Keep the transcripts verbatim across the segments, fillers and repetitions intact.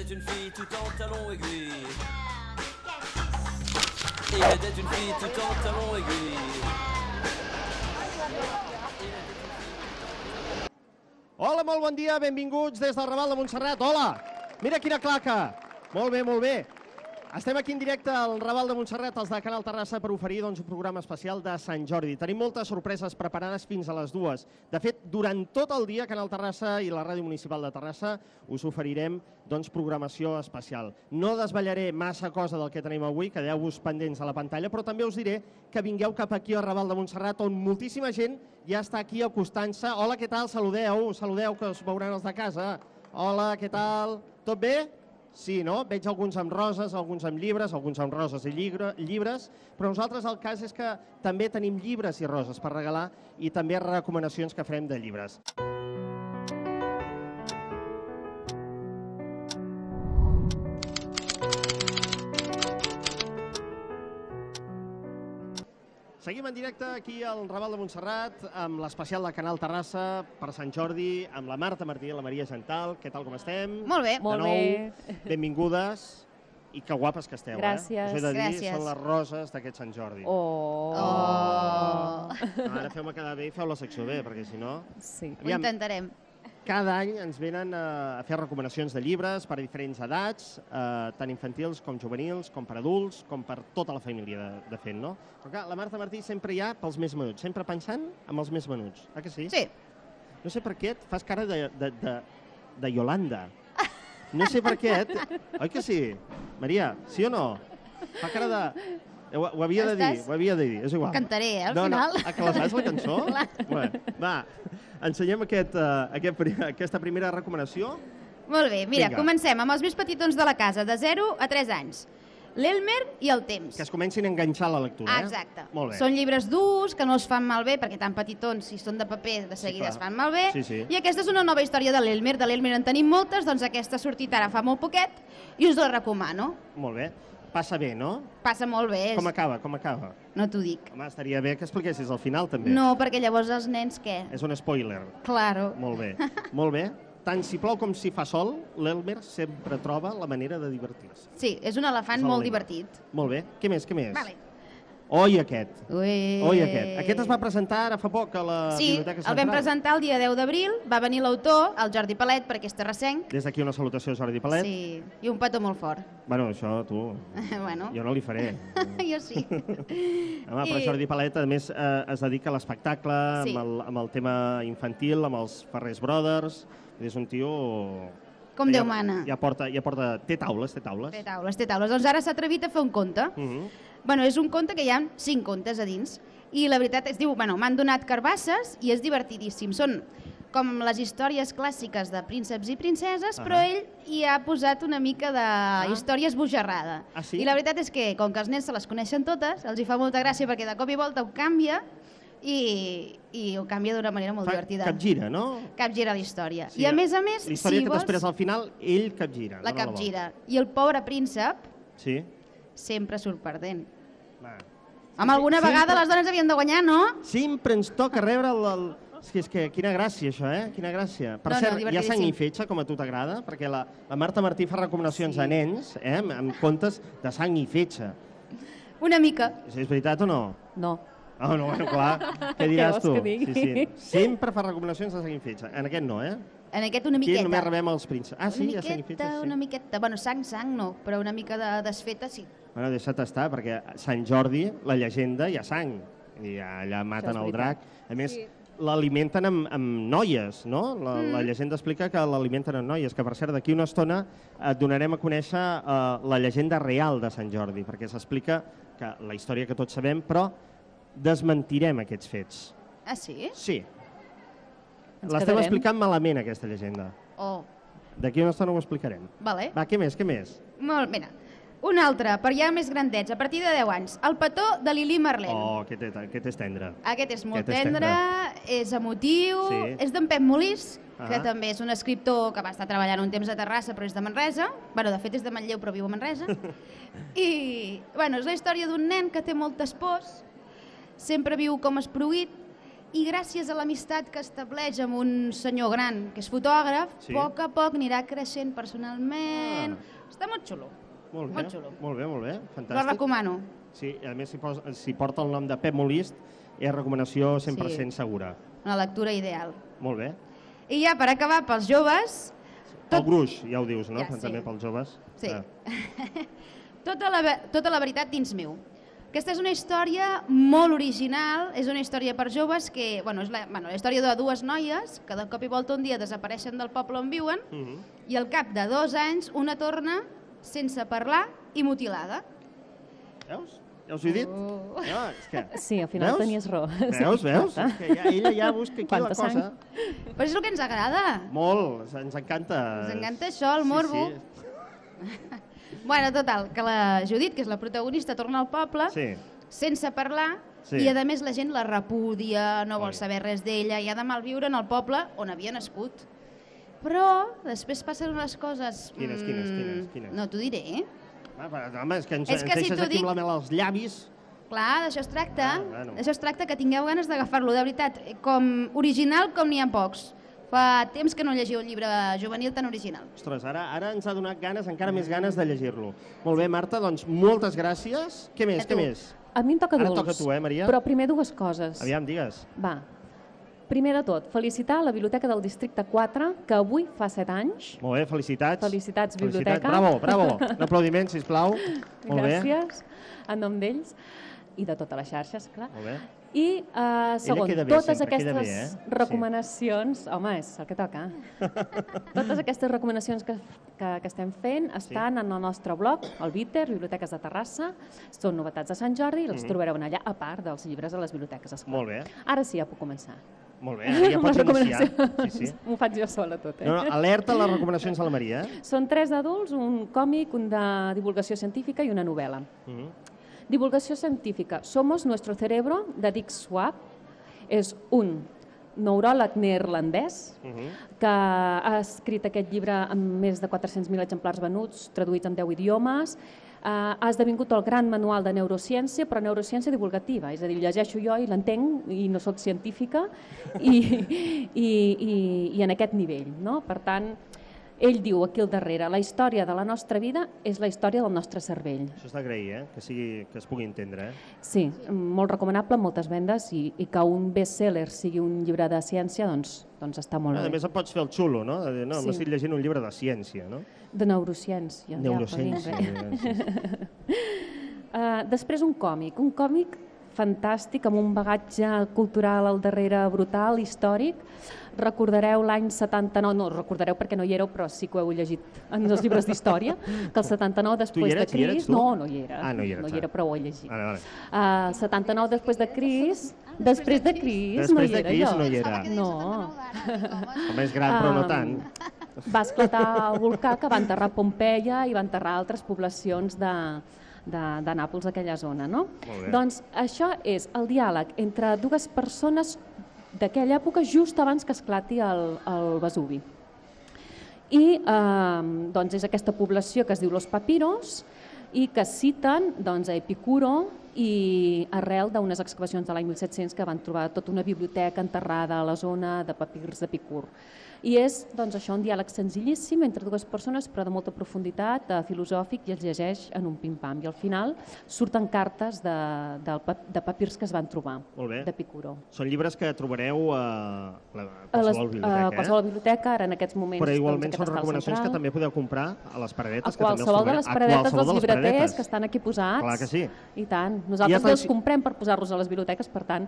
était une fille tout en talons aiguilles. Il était une fille tout en talons aiguilles. Hola, molt bon dia, benvinguts des del Raval de Montserrat. Hola! Mira quina claca! Molt bé, molt bé. Estem aquí en directe al Raval de Montserrat, els de Canal Terrassa, per oferir doncs, un programa especial de Sant Jordi. Tenim moltes sorpreses preparades fins a les dues. De fet, durant tot el dia, Canal Terrassa i la Ràdio Municipal de Terrassa us oferirem doncs, programació especial. No desvetllaré massa cosa del que tenim avui, quedeu-vos pendents a la pantalla, però també us diré que vingueu cap aquí al Raval de Montserrat, on moltíssima gent ja està aquí acostant-se. Hola, què tal? Saludeu, saludeu, que us veuran els de casa. Hola, què tal? Tot bé? Sí, no? Veig alguns amb roses, alguns amb llibres, alguns amb roses i llibres, però nosaltres el cas és que també tenim llibres i roses per regalar i també recomanacions que farem de llibres. Seguim en directe aquí al Raval de Montserrat amb l'especial de Canal Terrassa per Sant Jordi, amb la Marta Martí i la Maria Gental. Què tal, com estem? Molt bé. Molt bé. Benvingudes i que guapes que esteu, eh? Gràcies. Us he de dir, Gràcies. són les roses d'aquest Sant Jordi. Oh. Ara feu-me quedar bé i feu la secció bé, perquè si no... Sí. Aviam, Ho intentarem. cada any ens venen a fer recomanacions de llibres per a diferents edats, eh, tant infantils com juvenils, com per adults, com per tota la família de, de fet, no? Però clar, la Marta Martí sempre hi ha pels més menuts, sempre pensant en els més menuts, eh que sí? Sí. No sé per què et fas cara de, de, de, de Yolanda. No sé per què, oi que sí? Maria, sí o no? Fa cara de... Ho, ho havia de dir, Estàs- ho havia de dir, és igual. Cantaré, eh, al no, final. No, ah, que la saps, la cançó? Bueno, va, ensenyem aquest, uh, aquest, pri- aquesta primera recomanació. Molt bé, mira, Vinga. comencem amb els més petitons de la casa, de zero a tres anys. L'Elmer i el temps. Que es comencin a enganxar a la lectura, eh? Exacte. Molt bé. Són llibres durs, que no els fan malbé, perquè tan petitons, si són de paper, de seguida clar. es fan malbé. Sí, sí. I aquesta és una nova història de l'Elmer. De l'Elmer en tenim moltes, doncs aquesta ha sortit ara fa molt poquet i us la recomano. Molt bé. Passa bé, no? Passa molt bé. Com acaba, com acaba? No t'ho dic. Home, estaria bé que expliquessis al final, també. No, perquè llavors els nens què? És un spoiler. Claro. Molt bé, molt bé. Tant si plou com si fa sol, l'Elmer sempre troba la manera de divertir-se. Sí, és un elefant És el molt Elmer. divertit. Molt bé. Què més, què més? Vale. Oi, aquest. Ui. Oi, aquest. Aquest es va presentar ara fa poc a la Sí, Biblioteca el Central. vam presentar el dia deu d'abril, va venir l'autor, el Jordi Palet, perquè és terrassenc. Des d'aquí una salutació a Jordi Palet. Sí, i un petó molt fort. Bueno, això tu, bueno, jo no li faré. jo sí. Home, però I- Jordi Palet, a més, eh, es dedica a l'espectacle, Sí. amb, el, amb el tema infantil, amb els Ferrés Brothers. És un tio... Com que Déu ja, mana. Ja porta, ja porta... Té taules, té taules. Té taules, té taules. Doncs ara s'ha atrevit a fer un conte. Mhm. Bueno, és un conte que hi ha cinc contes a dins. I la veritat es diu, bueno, m'han donat carbasses i és divertidíssim. Són com les històries clàssiques de prínceps i princeses, Ah. però ell hi ha posat una mica de història esbojarrada. Ah, sí? I la veritat és que, com que els nens se les coneixen totes, els hi fa molta gràcia perquè de cop i volta ho canvia i, i ho canvia d'una manera molt Fa divertida. capgira, no? Capgira la història. Sí, I a més a més, la història si que vols, després al final ell capgira. la dona capgira. I el pobre príncep volta. Sí. sempre surt perdent. Va. Amb alguna sempre- vegada les dones havien de guanyar, no? Sempre ens toca rebre el... el... És que, és que quina gràcia, això, eh? Quina gràcia. Per No, no, cert, hi ha divertidíssim. sang i fetge, com a tu t'agrada? Perquè la, la Marta Martí fa recomanacions Sí. a nens, eh? Amb, amb contes de sang i fetge. Una mica. És, és veritat o no? No. Oh, no, bueno, clar. Què diràs vols tu? que digui? Sí, sí. Sempre fa recomanacions de sang i fetge. En aquest no, eh? En aquest una Aquí miqueta. només rebem els prínceps. Ah, sí, una hi ha sang i miqueta, fetge, sí. una miqueta. Bueno, sang, sang no, però una mica de desfeta sí. Bueno, deixa't estar, perquè a Sant Jordi, la llegenda, hi ha sang. I allà maten és el drac. veritat. A més, Sí. l'alimenten amb, amb noies, no? La, Mm. la llegenda explica que l'alimenten amb noies, que per cert, d'aquí una estona et donarem a conèixer eh, la llegenda real de Sant Jordi, perquè s'explica que la història que tots sabem, però desmentirem aquests fets. Ah, sí? Sí. Ens L'estem quedarem. explicant malament, aquesta llegenda. Oh, D'aquí una estona ho explicarem. vale. Va, què més, què més? Molt, mira. Un altre, per ja més grandets, a partir de deu anys. El petó de Lili Marlene. Oh, aquest, és- aquest és tendre. Aquest és molt Aquest és tendre, és emotiu, Sí. és d'en Pep Molís, que Ah. també és un escriptor que va estar treballant un temps a Terrassa, però és de Manresa. Bueno, de fet és de Manlleu, però viu a Manresa. I, bueno, és la història d'un nen que té moltes pors, sempre viu com esproguit, i gràcies a l'amistat que estableix amb un senyor gran, que és fotògraf, Sí. a poc a poc anirà creixent personalment. Està molt xulo. Molt bé, Molt xulo. molt bé, molt bé, Lo fantàstic. recomano. Sí, a més, si, pos, si porta el nom de Pep Molist, és recomanació cent per cent Sí. segura. Una lectura ideal. Molt bé. I ja, per acabar, pels joves... El gruix, ja ho dius, no? Ja, Però sí. també pels joves. Sí. Ah. tota, la, ve- tota la veritat dins meu. Aquesta és una història molt original, és una història per joves que, bueno, és la, bueno, la història de dues noies que de cop i volta un dia desapareixen del poble on viuen Mhm. i al cap de dos anys una torna sense parlar i mutilada. Veus? Ja us ho he dit? Oh. No, és que... Sí, al final Veus? tenies raó. Veus, veus? És que ja, ella ja busca aquí Quanta la cosa. sang. Però és el que ens agrada. Molt, ens encanta. Ens encanta això, el morbo. Sí, Bueno, total, que la Judit, que és la protagonista, torna al poble sí. sense parlar Sí. i a més la gent la repudia, no vol Oi. saber res d'ella i ha de malviure en el poble on havia nascut. Però després passen unes coses... Quines, quines, mm, quines, quines? No t'ho diré, eh? Ah, però, home, és que ens, És que ens si deixes t'ho aquí dic- amb la mel als llavis. Clar, d'això es tracta. Ah, bueno. D'això es tracta, que tingueu ganes d'agafar-lo, de veritat. Com original com n'hi ha pocs. Fa temps que no llegiu un llibre juvenil tan original. Ostres, ara, ara ens ha donat ganes, encara més ganes de llegir-lo. Molt bé, Marta, doncs moltes gràcies. Què més, A què tu. més? A mi em toca Ara dolç. toca a tu, eh, Maria? Però primer dues coses. Aviam, digues. Va. Primer de tot, felicitar la Biblioteca del Districte quatre, que avui fa set anys. Molt bé, felicitats. Felicitats, biblioteca. Bravo, bravo. Un aplaudiment, sisplau. Molt bé. Gràcies, en nom d'ells i de totes les xarxes, clar. Molt bé. I, uh, segon, queda bé, totes sempre queda aquestes bé, eh? recomanacions... Home, és el que toca. Totes aquestes recomanacions que, que, que estem fent estan en el nostre blog, el Bitter, Biblioteques de Terrassa. Són novetats de Sant Jordi i les trobareu allà, a part dels llibres a les biblioteques, esclar. Mhm. Molt bé. Ara sí, ja puc començar. Molt bé, ara ja Amb pots les iniciar. recomanacions. Sí, sí. M'ho faig jo sola tot, eh? No, no, alerta a les recomanacions de la Maria. Eh? Són tres d'adults, un còmic, un de divulgació científica i una novel·la. Mhm. Divulgació científica. Somos nuestro cerebro, de Dick Swab. És un neuròleg neerlandès Mhm. que ha escrit aquest llibre amb més de quatre-cents mil exemplars venuts, traduïts en deu idiomes. Uh, ha esdevingut el gran manual de neurociència, però neurociència divulgativa, és a dir, llegeixo jo i l'entenc i no sóc científica i, i, i, i en aquest nivell. No? Per tant, ell diu aquí al darrere, la història de la nostra vida és la història del nostre cervell. Això està d'agrair, eh? que, sigui, que es pugui entendre. Eh? Sí, molt recomanable, moltes vendes i, i que un best-seller sigui un llibre de ciència, doncs, doncs està molt A bé. més, em pots fer el xulo, no? De dir, no, Sí. m'estic llegint un llibre de ciència, no? De neurociència. Neurociència. Ja, per sí, sí. Uh, després un còmic, un còmic fantàstic, amb un bagatge cultural al darrere brutal, històric. Recordareu l'any setanta-nou, no recordareu perquè no hi éreu, però sí que ho heu llegit en els llibres d'història, que el setanta-nou després eres? de Hi eres, Cris... tu? No, no hi era. Ah, no hi eres, no hi ah. era, però ho he llegit. Vale, vale. Uh, el setanta-nou després de Cris... Després de Cris no Després hi de era Cris jo. no hi era. No. Home, és gran, però no Um, tant. Va esclatar el volcà que va enterrar Pompeia i va enterrar altres poblacions de, de, de Nàpols, aquella zona. No? Molt bé. Doncs això és el diàleg entre dues persones d'aquella època just abans que esclati el, el Vesuvi. I eh, doncs és aquesta població que es diu Los Papiros i que citen doncs, a Epicuro i arrel d'unes excavacions de l'any mil set-cents que van trobar tota una biblioteca enterrada a la zona de papirs d'Epicur. I és doncs, això un diàleg senzillíssim entre dues persones però de molta profunditat, eh, filosòfic, i els llegeix en un pim-pam. I al final surten cartes de, de, de papirs que es van trobar Molt bé. d'Epicuro. Són llibres que trobareu a, la, a A les- qualsevol a biblioteca, qualsevol eh? biblioteca, ara en aquests moments... Però igualment doncs, són aquest està al recomanacions que Central. també podeu comprar a les paradetes. A que també els qualsevol de trobareu. les A paradetes qualsevol dels de les llibreters paradetes. que estan aquí posats. Clar que sí. I tant. Nosaltres estan- els comprem per posar-los a les biblioteques, per tant...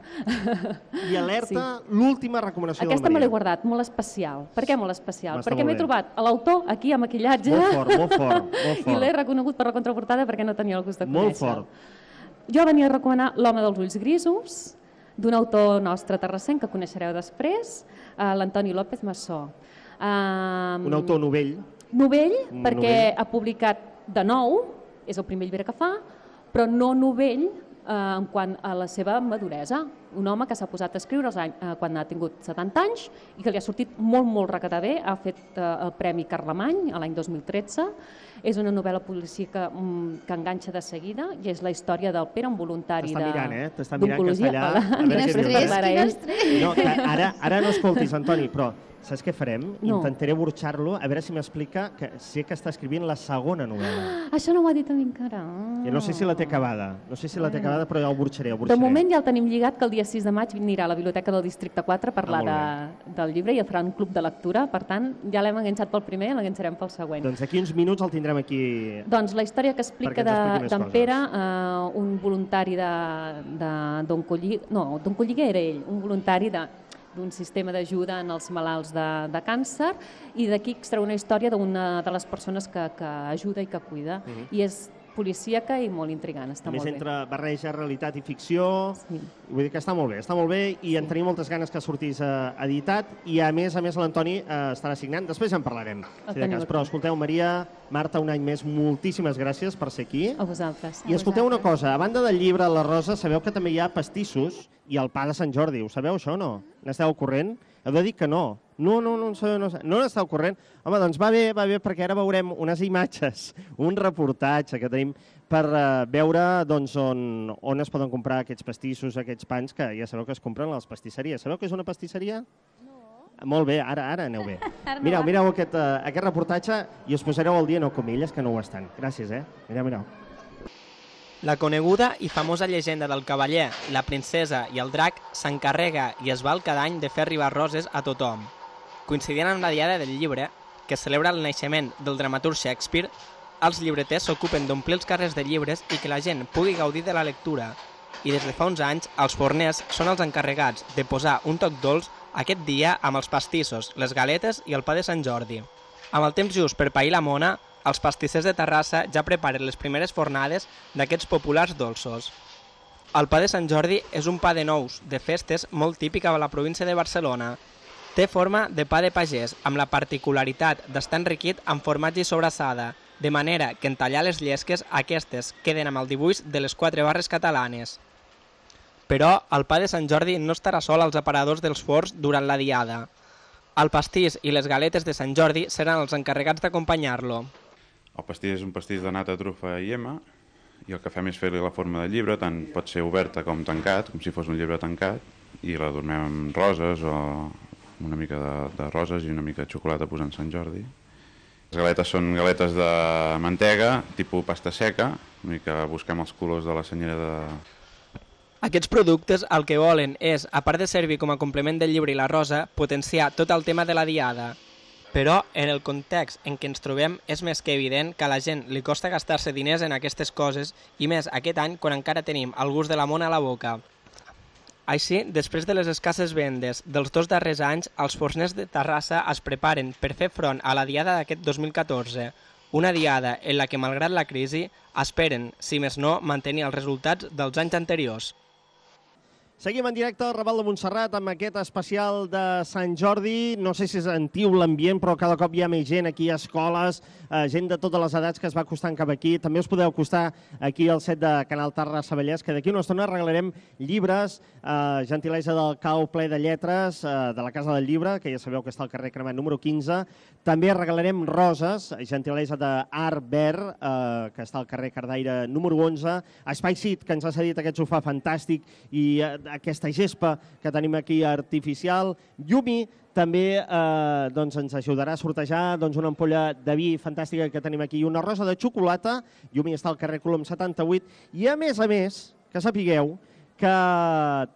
I alerta, l'última recomanació Aquesta de me la l'he Maria. guardat, molt especial. Per què molt especial? Està Perquè molt m'he bé. trobat a l'autor aquí a maquillatge Molt fort, molt fort, molt i fort. l'he reconegut per la contraportada perquè no tenia el gust de Molt conèixer-lo. fort. Jo venia a recomanar L'home dels ulls grisos, d'un autor nostre terrassenc que coneixereu després, eh, l'Antoni López Massó. Um, Un autor novell. Novell, Un perquè novell. ha publicat de nou, és el primer llibre que fa, però no novell eh, en quant a la seva maduresa. un home que s'ha posat a escriure quan ha tingut setanta anys i que li ha sortit molt, molt recatar bé. Ha fet el Premi Carlemany l'any dos mil tretze. És una novel·la policíaca que enganxa de seguida i és la història del Pere, un voluntari d'oncologia. T'està mirant, eh? T'està mirant que està allà. Quin estrès, quin estrès. No, ara no escoltis, Antoni, però saps què farem? Intentaré burxar-lo, a veure si m'explica que sé que està escrivint la segona novel·la. Això no ho ha dit a mi encara. No sé si la té acabada, no sé si la té acabada, però ja ho burxaré. De moment ja el tenim lligat, que el dia sis de maig anirà a la Biblioteca del Districte quatre a parlar del llibre i a farà un club de lectura, per tant, ja l'hem enganxat pel primer i l'enganxarem pel següent. Doncs d'aquí uns minuts el tindrem aquí. Doncs la història que explica d'en Pere, un voluntari d'Oncolligue, no, d'Oncolligue era ell, un voluntari de d'un sistema d'ajuda en els malalts de, de càncer, i d'aquí extreu una història d'una de les persones que, que ajuda i que cuida. Uh-huh. I és policíaca i molt intrigant, està molt bé. A més, entre barreja realitat i ficció, sí. Vull dir que està molt bé, està molt bé i en tenim moltes ganes que sortís eh, editat i a més a més l'Antoni eh, estarà signant, després ja en parlarem. Si de cas. Però escolteu, Maria, Marta, un any més, moltíssimes gràcies per ser aquí. A vosaltres. I escolteu una cosa, a banda del llibre La Rosa, sabeu que també hi ha pastissos i el pa de Sant Jordi, ho sabeu això o no? N'esteu al corrent? Heu de dir que no. No, no, no, no, no, no n'esteu al corrent. Home, doncs va bé, va bé, perquè ara veurem unes imatges, un reportatge que tenim per uh, veure doncs, on, on es poden comprar aquests pastissos, aquests pans, que ja sabeu que es compren a les pastisseries. Sabeu què és una pastisseria? No. Molt bé, ara, ara aneu bé. Mireu, mireu aquest, uh, aquest reportatge i us posareu al dia, no com elles, que no ho estan. Gràcies, eh? Mireu, mireu. La coneguda i famosa llegenda del cavaller, la princesa i el drac s'encarrega i es val cada any de fer arribar roses a tothom. Coincidint amb la diada del llibre, que celebra el naixement del dramaturg Shakespeare, els llibreters s'ocupen d'omplir els carrers de llibres i que la gent pugui gaudir de la lectura. I des de fa uns anys, els forners són els encarregats de posar un toc dolç aquest dia amb els pastissos, les galetes i el pa de Sant Jordi. Amb el temps just per pair la mona, els pastissers de Terrassa ja preparen les primeres fornades d'aquests populars dolços. El pa de Sant Jordi és un pa de nous, de festes, molt típic a la província de Barcelona. Té forma de pa de pagès, amb la particularitat d'estar enriquit amb formatge i sobrassada, de manera que en tallar les llesques aquestes queden amb el dibuix de les quatre barres catalanes. Però el pa de Sant Jordi no estarà sol als aparadors dels forns durant la diada. El pastís i les galetes de Sant Jordi seran els encarregats d'acompanyar-lo. El pastís és un pastís de nata, trufa i ema, i el que fem és fer-li la forma de llibre, tant pot ser oberta com tancat, com si fos un llibre tancat, i l'adormem amb roses o una mica de, de roses i una mica de xocolata posant Sant Jordi. Les galetes són galetes de mantega, tipus pasta seca, una mica busquem els colors de la senyera de... Aquests productes el que volen és, a part de servir com a complement del llibre i la rosa, potenciar tot el tema de la diada. Però, en el context en què ens trobem, és més que evident que a la gent li costa gastar-se diners en aquestes coses, i més aquest any quan encara tenim el gust de la mona a la boca. Així, després de les escasses vendes dels dos darrers anys, els forners de Terrassa es preparen per fer front a la diada d'aquest dos mil catorze, una diada en la que, malgrat la crisi, esperen, si més no, mantenir els resultats dels anys anteriors. Seguim en directe al Raval de Montserrat amb aquest especial de Sant Jordi. No sé si és antiu l'ambient, però cada cop hi ha més gent aquí a escoles, eh, gent de totes les edats que es va acostant cap aquí. També us podeu acostar aquí al set de Canal Terrassa Vallès, que d'aquí una estona regalarem llibres, eh, gentilesa del cau ple de lletres, eh, de la Casa del Llibre, que ja sabeu que està al carrer Cremat número quinze. També regalarem roses, gentilesa d'Art Verd, eh, que està al carrer Cardaire número onze. Espai Cit, que ens ha cedit aquest sofà fantàstic i eh, aquesta gespa que tenim aquí artificial. Yumi també eh, doncs ens ajudarà a sortejar doncs, una ampolla de vi fantàstica que tenim aquí i una rosa de xocolata. Yumi està al carrer Colom setanta-vuit. I a més a més, que sapigueu que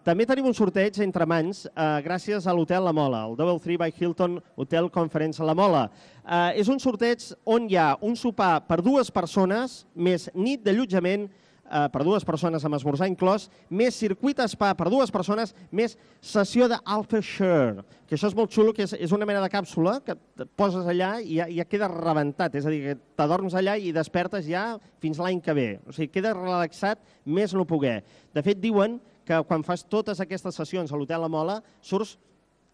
també tenim un sorteig entre mans eh, gràcies a l'Hotel La Mola, el Double Three by Hilton Hotel Conference La Mola. Eh, és un sorteig on hi ha un sopar per dues persones, més nit d'allotjament Uh, per dues persones amb esmorzar inclòs, més circuit spa per dues persones, més sessió d'Alpha Share, que això és molt xulo, que és, és una mena de càpsula que et poses allà i ja, ja queda rebentat, és a dir, que t'adorms allà i despertes ja fins l'any que ve. O sigui, queda relaxat més no poder. De fet, diuen que quan fas totes aquestes sessions a l'Hotel La Mola surts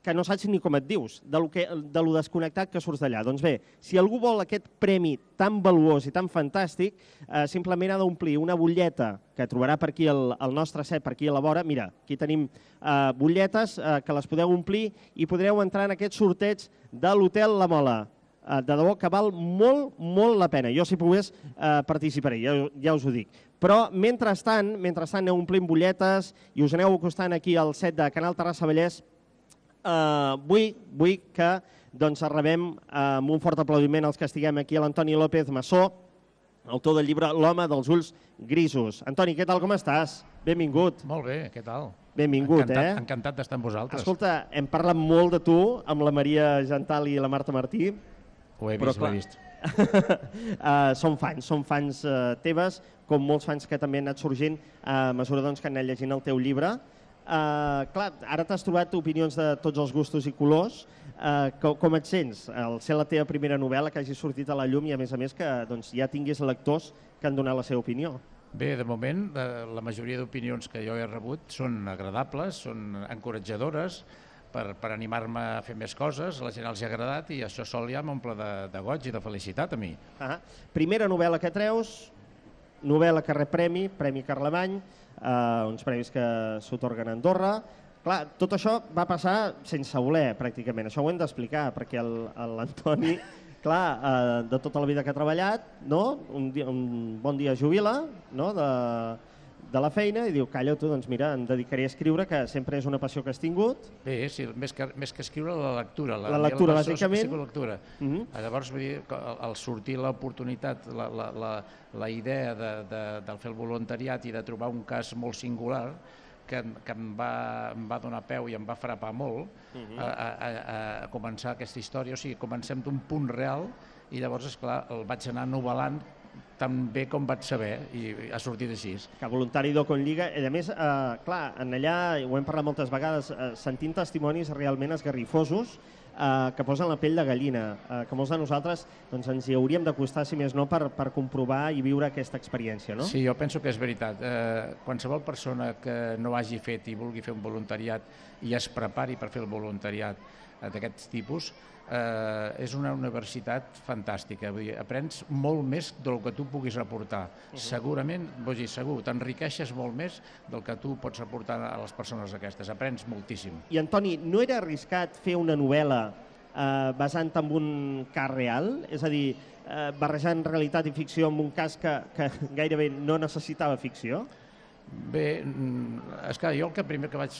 que no saps ni com et dius, de lo, que, de lo desconnectat que surts d'allà. Doncs bé, si algú vol aquest premi tan valuós i tan fantàstic, eh, simplement ha d'omplir una butlleta que trobarà per aquí el, el nostre set, per aquí a la vora. Mira, aquí tenim eh, butlletes eh, que les podeu omplir i podreu entrar en aquest sorteig de l'Hotel La Mola. Eh, de debò que val molt, molt la pena. Jo, si pogués, eh, participaré, ja, ja us ho dic. Però, mentrestant, mentrestant aneu omplint butlletes i us aneu acostant aquí al set de Canal Terrassa Vallès, Uh, vull, vull que doncs, rebem uh, amb un fort aplaudiment els que estiguem aquí a l'Antoni López Massó, autor del llibre L'home dels ulls grisos. Antoni, què tal, com estàs? Benvingut. Molt bé, què tal? Benvingut, encantat, eh? Encantat d'estar amb vosaltres. Escolta, hem parlat molt de tu amb la Maria Gental i la Marta Martí. Ho he vist, ho he vist. uh, som fans, som fans uh, teves, com molts fans que també han anat sorgint a mesura doncs, que han anat llegint el teu llibre. Uh, clar, ara t'has trobat opinions de tots els gustos i colors. Uh, com, com et sents al ser la teva primera novel·la que hagi sortit a la llum i a més a més que doncs, ja tinguis lectors que han donat la seva opinió? Bé, de moment la majoria d'opinions que jo he rebut són agradables, són encoratjadores per, per animar-me a fer més coses. A la gent els ha agradat i això sol ja m'omple de, de goig i de felicitat a mi. Ah, primera novel·la que treus, novel·la que rep premi, Premi Carlemany, Uh, uns premis que s'otorguen a Andorra. Clar, tot això va passar sense voler, pràcticament. Això ho hem d'explicar, perquè l'Antoni, clar, uh, de tota la vida que ha treballat, no? un, dia, un bon dia jubila, no? de, de la feina i diu, calla tu, doncs mira, em dedicaré a escriure, que sempre és una passió que has tingut. Bé, sí, més que, més que escriure, la lectura. La, la lectura, la bàsicament. La lectura. Uh -huh. Llavors, vull dir, al sortir l'oportunitat, la, la, la, la idea de, de, de fer el voluntariat i de trobar un cas molt singular, que, que em, va, em va donar peu i em va frapar molt, uh -huh. a, a, a començar aquesta història. O sigui, comencem d'un punt real i llavors, esclar, el vaig anar novel·lant tan bé com vaig saber i ha sortit així. Que voluntari d'O con Lliga. I a més, eh, clar, en allà, ho hem parlat moltes vegades, eh, sentint testimonis realment esgarrifosos eh, que posen la pell de gallina, eh, que molts de nosaltres doncs, ens hi hauríem d'acostar, si més no, per, per comprovar i viure aquesta experiència, no? Sí, jo penso que és veritat. Eh, qualsevol persona que no hagi fet i vulgui fer un voluntariat i es prepari per fer el voluntariat eh, d'aquest tipus, Eh, és una universitat fantàstica. Vull dir, aprens molt més del que tu puguis aportar. Uh -huh. Segurament, vull dir, segur, t'enriqueixes molt més del que tu pots aportar a les persones aquestes. Aprens moltíssim. I, Antoni, no era arriscat fer una novel·la eh, basant en un cas real? És a dir, eh, barrejant realitat i ficció en un cas que, que gairebé no necessitava ficció? Bé, és que jo el que primer que vaig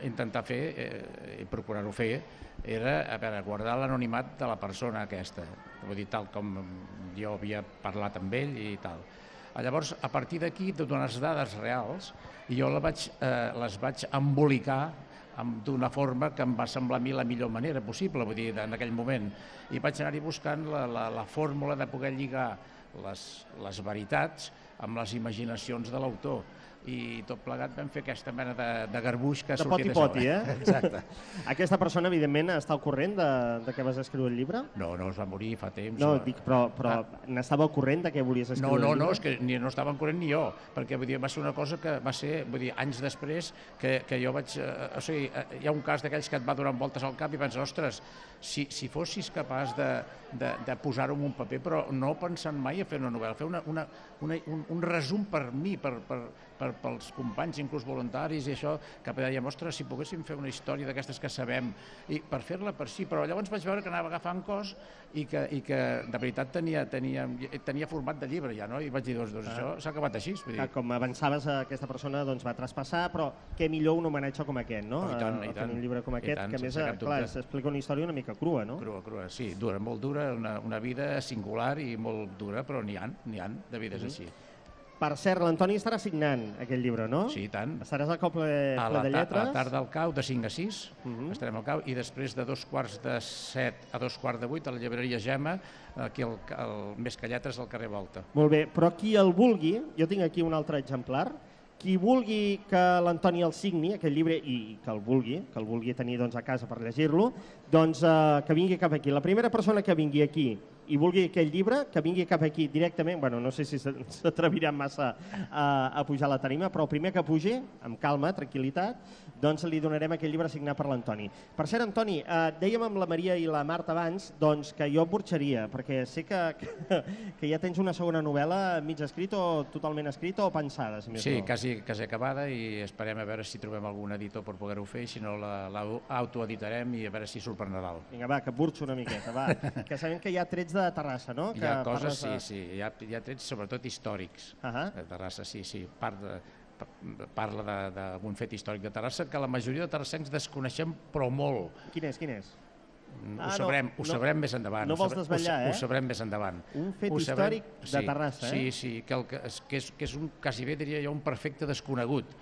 intentar fer, eh, i procurar-ho fer, era a veure, guardar l'anonimat de la persona aquesta, vull dir, tal com jo havia parlat amb ell i tal. Llavors, a partir d'aquí, de donar les dades reals, jo la vaig, eh, les vaig embolicar d'una forma que em va semblar a mi la millor manera possible, vull dir, en aquell moment. I vaig anar-hi buscant la, la, la fórmula de poder lligar les, les veritats amb les imaginacions de l'autor. I tot plegat vam fer aquesta mena de, de garbuix que ha sortit això. De poti-poti, eh? Exacte. Aquesta persona, evidentment, està al corrent de, de què vas escriure el llibre? No, no, es va morir fa temps. No, dic, però, però ah. n'estava al corrent de què volies escriure no, no, el llibre? No, és que ni, no estava al corrent ni jo, perquè vull dir, va ser una cosa que va ser, vull dir, anys després que, que jo vaig... Eh, o sigui, hi ha un cas d'aquells que et va donant voltes al cap i penses, ostres, si, si fossis capaç de, de, de posar-ho en un paper, però no pensant mai a fer una novel·la, fer una, una, una, un, un resum per mi, per, per, per, pels companys, inclús voluntaris i això, que dèiem, ostres, si poguéssim fer una història d'aquestes que sabem, i per fer-la per si, però llavors vaig veure que anava agafant cos i que, i que de veritat tenia, tenia, tenia format de llibre ja, no? I vaig dir, doncs, doncs ah. això s'ha acabat així. Vull dir. Com avançaves, aquesta persona doncs, va traspassar, però què millor un homenatge com aquest, no? Oh, i tant, i tant. Un llibre com aquest, tant, que a més, clar, s'explica una història una mica crua, no? Crua, crua, sí, dura, molt dura, una, una vida singular i molt dura, però n'hi ha, n'hi ha de vides mm -hmm. així. Per cert, l'Antoni estarà signant aquest llibre, no? Sí, i tant. Estaràs al cop ple, ple de lletres? A la tarda al cau, de cinc a sis, uh -huh. estarem al cau, i després de dos quarts de set a dos quarts de vuit, a la llibreria Gemma, aquí al, al Més que Lletres, al carrer Volta. Molt bé, però qui el vulgui, jo tinc aquí un altre exemplar, qui vulgui que l'Antoni el signi, aquest llibre, i que el vulgui, que el vulgui tenir doncs, a casa per llegir-lo, doncs eh, que vingui cap aquí. La primera persona que vingui aquí i vulgui aquell llibre, que vingui cap aquí directament, bueno, no sé si s'atreviran massa a, a pujar a la tarima, però el primer que pugi, amb calma, tranquil·litat, doncs li donarem aquell llibre signat per l'Antoni. Per cert, Antoni, eh, dèiem amb la Maria i la Marta abans doncs, que jo burxaria, perquè sé que, que, que ja tens una segona novel·la mig escrit o totalment escrita o pensada, si més Sí, no. quasi, quasi acabada i esperem a veure si trobem algun editor per poder-ho fer, si no l'autoeditarem i a veure si surt per Nadal. Vinga, va, que burxo una miqueta, va. Que sabem que hi ha trets de Terrassa, no? Hi ha que coses, parles de... sí, sí, hi ha, hi ha trets sobretot històrics Ahà. de Terrassa, sí, sí, part de, parla d'algun fet històric de Terrassa que la majoria de terrassencs desconeixem, però molt. Quin és, quin és? Ho sabrem, ho sabrem més endavant. No vols desvetllar, eh? Ho sabrem més endavant. Un fet històric de Terrassa, eh? Sí, sí, que, el, que és, que és un, quasi bé diria jo un perfecte desconegut.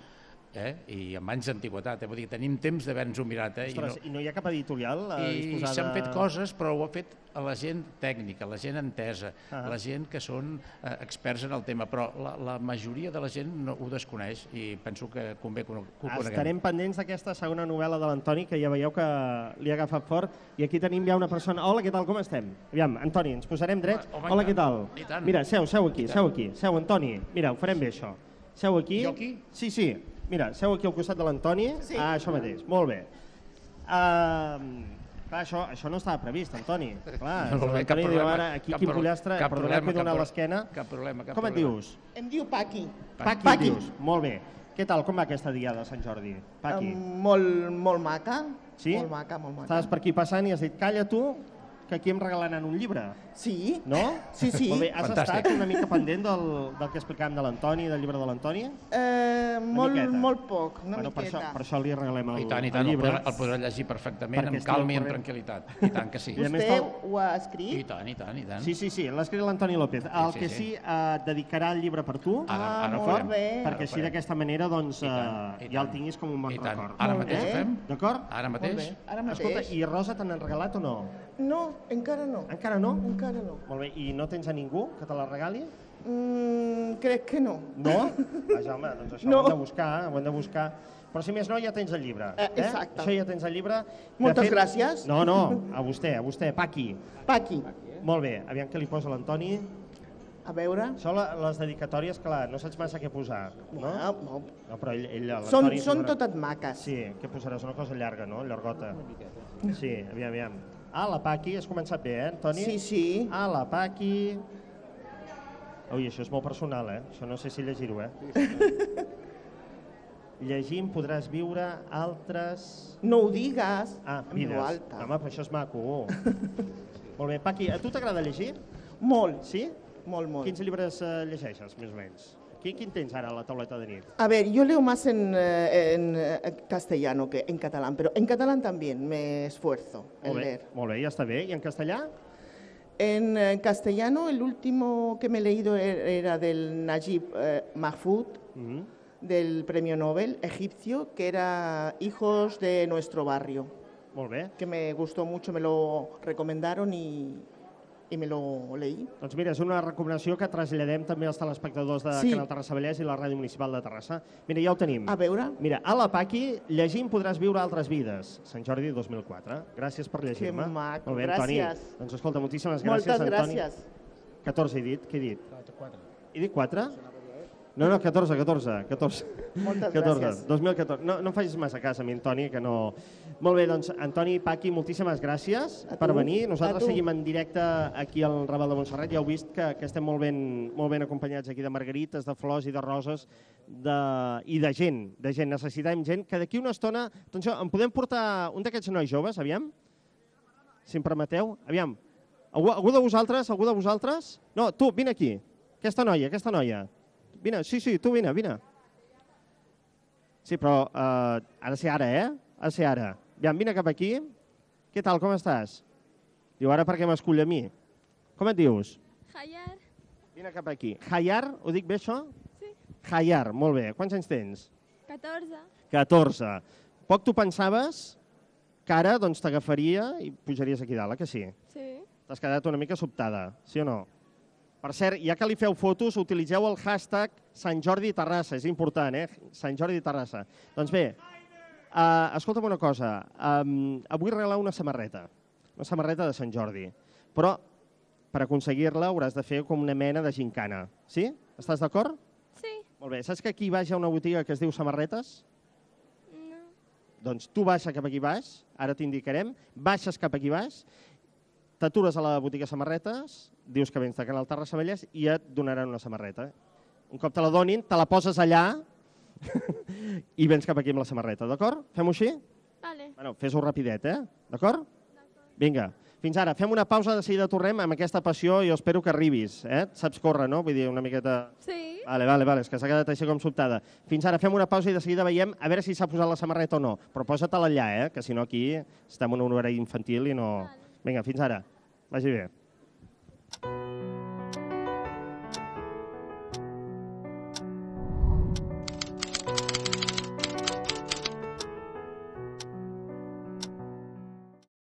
Eh? I amb anys d'antiguitat, eh? Vull dir, tenim temps d'haver-nos-ho mirat. Eh? Ostres, I, no... I no hi ha cap editorial a I disposar de... s'han fet coses, però ho ha fet a la gent tècnica, la gent entesa, ah. la gent que són eh, experts en el tema, però la, la majoria de la gent no, ho desconeix i penso que convé que ho, que ho coneguem. Estarem pendents d'aquesta segona novel·la de l'Antoni, que ja veieu que li ha agafat fort, i aquí tenim ja una persona... Hola, què tal, com estem? Aviam, Antoni, ens posarem drets. Home, Hola, què tal? Mira, seu, seu aquí, seu aquí. Seu, Antoni. Mira, ho farem bé, això. Seu aquí. Jo aquí? Sí, sí. Mira, seu aquí al costat de l'Antoni. Sí. Ah, això mateix. Molt bé. Uh, clar, això, això no estava previst, Antoni. Clar, Molt bé, cap Antoni diu problema, ara, aquí cap quin pro- pollastre, cap perdoneu problema, que he donat cap pro- l'esquena. cap problema, cap Com et problema. dius? Em diu Paqui. Paqui, et dius. Molt bé. Què tal, com va aquesta diada de Sant Jordi? Paqui. Um, molt, molt maca. Sí? Molt maca, molt maca. Estaves per aquí passant i has dit, calla tu, que aquí em regalaran un llibre. Sí. No? Sí, sí. Molt bé, has Fantàstic. estat una mica pendent del, del que explicàvem de l'Antoni, del llibre de l'Antoni? Eh, molt, miqueta. molt poc, una Bueno, per això, miqueta. per això li regalem el, I tant, i el tant, el llibre. podrà, el podrà llegir perfectament, Perquè amb estigui calma i al amb corrent. tranquil·litat. I tant que sí. I a més Vostè tal- ho ha escrit? I tant, i tant, i tant. Sí, sí, sí, l'ha escrit l'Antoni López. El Sí, que sí. sí, eh, dedicarà el llibre per tu, Ara, Ah, ara ho molt farem. bé. Ara perquè ho així farem. d'aquesta manera doncs, I tant, eh, i ja el tant. tinguis com un bon I tant. record. Ara Molt mateix ho bé. fem? D'acord? Ara Molt mateix? bé. Ara mateix. Escolta, i Rosa te n'han regalat o no? No, encara no. Encara no? Encara no. Molt bé, i no tens a ningú que te la regali? Mm, crec que no. No? Vaja, home, doncs això No. ho hem de buscar, ho hem de buscar. Però si més no, ja tens el llibre. Eh, exacte. Això ja tens el llibre. De Moltes gràcies. No, no, a vostè, a vostè, Paqui. Paqui. Molt bé, aviam què li posa l'Antoni. A veure. Són la- les dedicatòries, clar, no saps massa què posar, no? No, no. No, però ell, ell Són, l'Antoni són posarà- totes maques. Sí, què posaràs? Una cosa llarga, no? Llargota. Sí, aviam, aviam. Ah, la Paqui, has començat bé, eh, Antoni? Sí, sí. Ah, la Paqui... Ui, això és molt personal, eh? Això no sé si llegir-ho, eh? Llegint podràs viure altres... No ho digues Ah, en vides. veu alta. Home, però això és maco. Molt bé, Paqui, a tu t'agrada llegir? Molt, Sí? molt, molt. Quins llibres eh, llegeixes, més o menys? Quin, quin tens ara a la tauleta de nit? A ver, yo leo más en, eh, en eh, castellano que en catalán, pero en catalán también me esfuerzo en Molt bé, leer. molt bé, ja està bé. I en castellà? En eh, castellano, el último que me he leído er- era del Najib eh, Mahfoud, Mm. del premio Nobel egipcio, que era Hijos de nuestro barrio, Molt bé. que me gustó mucho, me lo recomendaron y, y me lo leí. Doncs mira, és una recomanació que traslladem també als telespectadors de Sí. Canal Terrassa Vallès i la Ràdio Municipal de Terrassa. Mira, ja ho tenim. A veure, Mira, a la Paqui, llegint podràs viure altres vides. Sant Jordi dos mil quatre. Gràcies per llegir-me. Que maco, Molt bé, Antoni. gràcies. Doncs escolta, moltíssimes gràcies, moltes Antoni. gràcies. catorze he dit, què he dit? He dit quatre? No, no, catorze, catorze. catorze. Moltes catorze, gràcies. dos mil catorze. No, no em facis massa cas a mi, Antoni, que no... Molt bé, doncs, Antoni i Paqui, moltíssimes gràcies A per tu, venir. a Nosaltres tu. seguim en directe aquí al Raval de Montserrat. Ja heu vist que, que estem molt ben, molt ben acompanyats aquí de margarites, de flors i de roses de, i de gent, de gent. Necessitem gent que d'aquí una estona... Atenció, em podem portar un d'aquests nois joves, aviam? Si em permeteu? Aviam. Algú, algú de vosaltres? Algú de vosaltres? No, tu, vine aquí. Aquesta noia, aquesta noia. Vine, sí, sí, tu vine, vine. Sí, però uh, ha de ser ara, eh? Ha de ser ara. Aviam, vine cap aquí. Què tal, com estàs? Diu, ara per què m'escull a mi? Com et dius? Hayar, Vine cap aquí. Hayar, ho dic bé això? Sí. Hayar, molt bé. Quants anys tens? catorze. catorze. Poc tu pensaves que ara doncs, t'agafaria i pujaries aquí dalt, eh, que sí? Sí. T'has quedat una mica sobtada, sí o no? Per cert, ja que li feu fotos, utilitzeu el hashtag Sant Jordi Terrassa, és important, eh? Sant Jordi Terrassa. Doncs bé, uh, escolta'm una cosa, um, avui regalar una samarreta, una samarreta de Sant Jordi, però per aconseguir-la hauràs de fer com una mena de gincana. Sí? Estàs d'acord? Sí. Molt bé. Saps que aquí baix hi ha una botiga que es diu Samarretes? No. Doncs tu baixa cap aquí baix, ara t'indicarem, baixes cap aquí baix, t'atures a la botiga Samarretes, dius que vens de Canal Terrassa Vallès i et donaran una samarreta. Un cop te la donin, te la poses allà i vens cap aquí amb la samarreta, d'acord? Fem-ho així? Vale. Bueno, fes-ho rapidet, eh? D'acord? Vinga, fins ara. Fem una pausa, de seguida tornem amb aquesta passió i jo espero que arribis, eh? Saps córrer, no? Vull dir, una miqueta... Sí. Vale, vale, vale, és que s'ha quedat així com sobtada. Fins ara fem una pausa i de seguida veiem a veure si s'ha posat la samarreta o no. Però posa-te-la allà, eh? Que si no aquí estem en un horari infantil i no... Vinga, fins ara. Vagi bé.